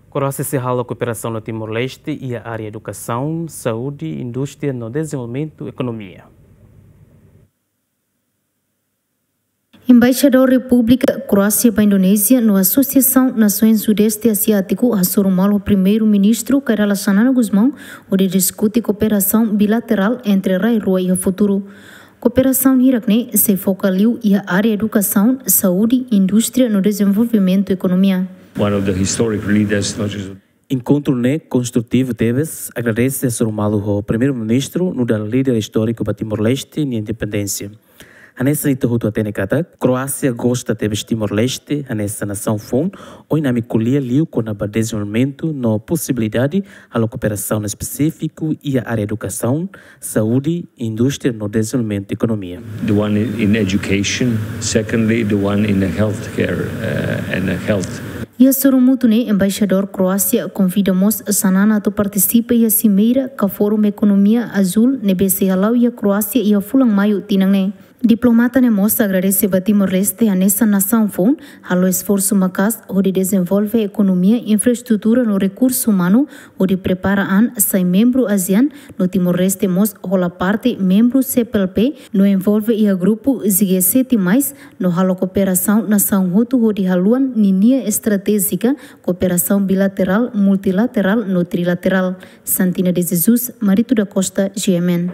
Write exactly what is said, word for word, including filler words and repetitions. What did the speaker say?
Kroásia sei halo kooperasaun ho Timor-Leste iha área edukasaun, saúde, indústria no dezenvolvimentu ekonomia. Embaixadór Repúblika Kroásia ba Indonézia no Asosiasaun Nasoens Sudeste Asiátiku hasoru malu ho Primeiru-Ministru Kay Rala Xanana Gusmão hodi diskute kooperasaun bilaterál entre rai rua iha futuru. Kooperasaun hirak-ne'e sei foka liu iha área edukasaun, saúde, indústria no dezenvolvimentu ekonomia. One of the historic leaders, not just Enkontru ne'e konstrutivu tebes, agradese hasoru malu ho Primeiru-Ministru nu'udar líder istóriku ba Timor-Leste nia independénsia. Hanesan ita hotu hatene katak, Kroásia gosta tebes Timor-Leste hanesan nasaun foun, ohin ami ko'alia liu kona-ba dezenvolvimentu no posibilidade halo kooperasaun espesífiku iha área edukasaun, saúde, indústria no dezenvolvimentu ekonomia. The one in education, secondly, the one in the healthcare, uh, and the health. Iha sorumutu ne'e, Embaixadór Kroásia konvida mós Xanana atu partisipa iha simeira ka Fórum Ekonomia Azúl ne'ebé sei hala'o iha Kroásia iha fulan Maiu tinan ne'e. Diplomata ne'e mós agradese ba Timor-Leste hanesan nasaun foun, halo esforsu maka'as hodi dezenvolve ekonomia, infraestrutura no rekursu umanu, hodi prepara an sai membru ASEAN, no Timor-Leste mós hola parte membru C P L P, no envolve iha grupu G sete mais, no halo kooperasaun nasaun hotu hodi haluan ninia estratéjika, kooperasaun bilaterál, multilaterál no trilaterál. Santina de Jesus, Marito da Costa, G M N.